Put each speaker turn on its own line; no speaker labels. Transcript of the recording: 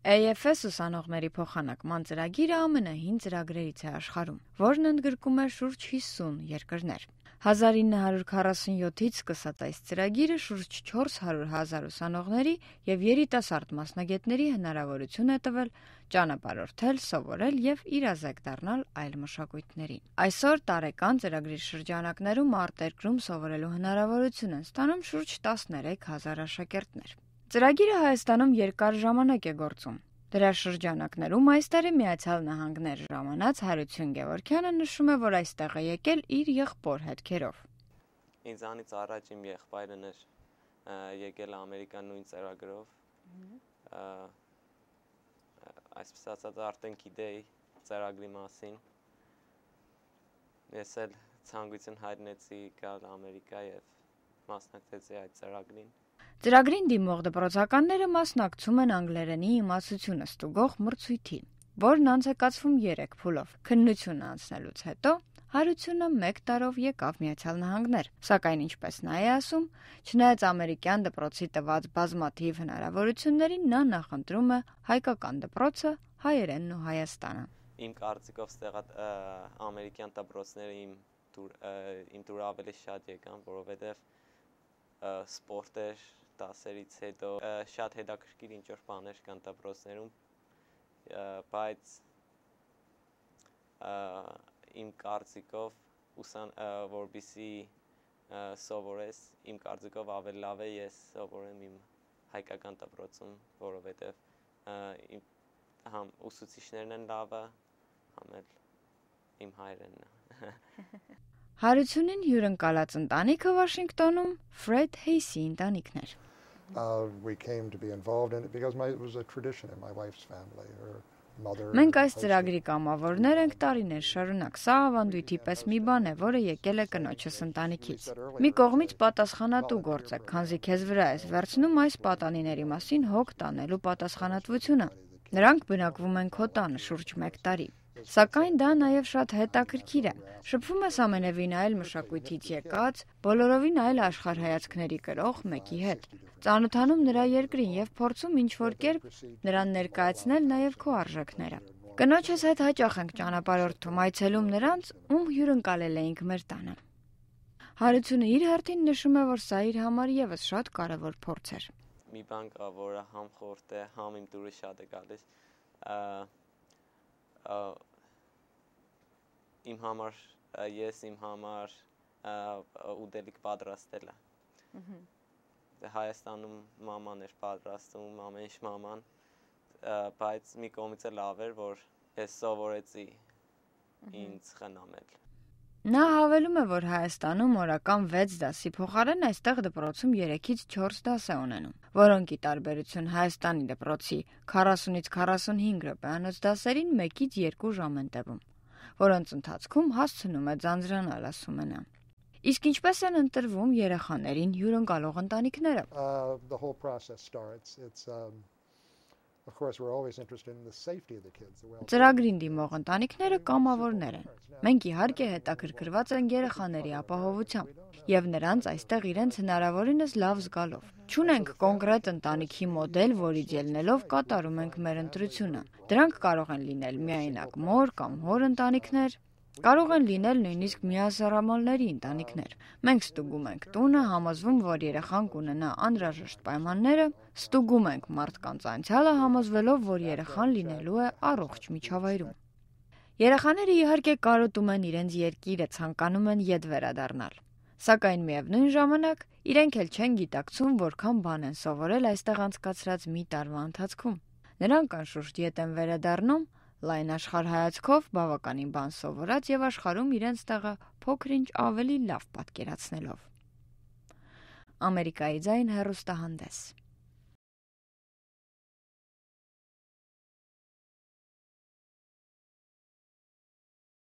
AFS ուսանողների փոխանակման ծրագիրը ամենահին ծրագրերից է աշխարհում, որն ընդգրկում է շուրջ 50 երկրներ։ 1947-ից սկսած այս ծրագիրը շուրջ 400,000 ուսանողների եւ երիտասարդ մասնագետների հնարավորություն է տվել ճանապարհորդել, սովորել եւ իրազեկ դառնալ այլ մշակույթներին։ Այսօր տարեկան ծրագրի շրջանակներում արտերկրում սովորելու հնարավորություն են ստանում շուրջ 13,000 աշակերտներ։ Ծրագիրը Հայաստանում երկար ժամանակ է գործում։ Դրա շրջանակներում այս տարի Միացյալ Նահանգներ ժամանած Հարություն Գևորգյանը նշում է, որ այստեղ է եկել իր եղբոր հետքերով։
Ինձանից առաջ իմ եղբայրն էր եկել Ամերիկան նույն ծրագրով։ Այսպես ասած արդեն գիտեի ծրագրի մասին։ Ես էլ ցանկություն հայտնեցի գալ Ամերիկա եւ մասնակցեցի այդ ծրագրին։
Ծրագրին դիմող դպրոցականները մասնակցում են անգլերենի իմացությունը ստուգող մրցույթի, որն անց է կացվում 3 փուլով։ Քննությունը անցնելուց հետո Հարությունը 1 տարով եկավ Միացյալ Նահանգներ, սակայն ինչպես նա է ասում, չնայած ամերիկյան դպրոցի տված բազմաթիվ հնարավորություններին, նա նախընտրում է հայկական դպրոցը, հայերենն ու Հայաստանը։
Իմ կարծիքով ստեղա ամերիկյան դպրոցները իմ դուր ավելի շատ եկան, որովհետև սպորտեր դասերից հետո շատ հետաքրքիր ինչ-որ բաներ կան դպրոցներում, բայց իմ կարծիքով որպեսզի սովորես, իմ կարծիքով ավելի լավ է ես սովորեմ իմ հայկական դպրոցում, որովհետև համ ուսուցիչներն են լավը, համ էլ իմ հայրենն է։
Հարությունին հյուրընկալած ընտանիքը Վաշինգտոնում Ֆրեդ Հեյսի ընտանիքն էր։
We came to be involved in it because it was a tradition in my wife's family. Her mother.
Մենք այս ծրագրի կամավորներ ենք տարիներ շարունակ։ Սա ավանդույթի պես մի բան է, որը եկել է կնոջս ընտանիքից։ Մի կողմից պատասխանատու գործ է, քանզի քեզ վրա ես վերցնում այս պատանիների մասին հոգ տանելու պատասխանատվությունը։ Նրանք բնակվում են քո տանը շուրջ 1 տարի։ Սակայն դա նաև շատ հետաքրքիր է։ Շփվում ես ամենևին այլ մշակույթից եկած, բոլորովին այլ աշխարհայացքների կրող մեկի հետ։ Ծանոթանում նրա երկրին եւ փորձում ինչ-որ կերպ նրան ներկայացնել նաև քո արժեքները։ Կնոջս հետ հաճախ ենք ճանապարհորդում, այցելում նրանց, ում հյուրընկալել էինք մեր տանը։ Հարությունը իր հերթին նշում է, որ սա իր համար եւս շատ կարեւոր փորձ էր։
Մի բան կա, որը համ խորտ է, համ իմ դուրս շատ է գալիս։ Իմ համար ուտելիք պատրաստելը։ Հայաստանում մաման էր պատրաստում, ամեն ինչ մաման, բայց մի կողմից էլ լավ էր, որ ես սովորեցի ինձ խնամել։
Նա հավելում է, որ Հայաստանում օրական 6 դասի փոխարեն այստեղ դպրոցում 3-ից 4 դաս է ունենում, որոնք ի տարբերություն Հայաստանի դպրոցի 40-ից 45 րոպեանոց դասերին 1-ից 2 ժամ են տևում, որոնց ընթացքում հասցնում է ձանձրանալ, ասում է նա։ Իսկ ինչպես են ընտրվում երեխաներին հյուրընկալող ընտանիքները։
The whole process starts. Of course, we're always interested in the safety of the kids.
Ծրագրին դիմող ընտանիքները կամավորներ են։ Մենք իհարկե հետաքրքրված ենք երեխաների ապահովությամբ եւ նրանց այստեղ իրենց հնարավորինս լավ զգալով։ Չունենք կոնկրետ ընտանիքի մոդել, որից ելնելով կատարում ենք մեր ընտրությունը։ Դրանք կարող են լինել միայնակ մոր կամ հոր ընտանիքներ, կարող են լինել նույնիսկ միասեռամոլների ընտանիքներ։ Մենք ստուգում ենք տունը, համոզվում, որ երեխան կունենա անհրաժեշտ պայմանները, ստուգում ենք մարդկանց անցյալը, համոզվելով, որ երեխան լինելու է առողջ միջավայրում։ Երեխաները իհարկե կարոտում են իրենց երկիրը, ցանկանում են ետ վերադառնալ։ Սակայն միևնույն ժամանակ իրենք էլ չեն գիտակցում, որքան բան են սովորել այստեղ անցկացրած մի տարվա ընթացքում։ Նրանք անշուշտ ետ են վերադառնում լայն աշխարհայացքով բավականին բան սովորած եւ աշխարհում իրենց տեղը փոքր-ինչ ավելի լավ պատկերացնելով։ Ամերիկայի ձայն հեռուստահանդես։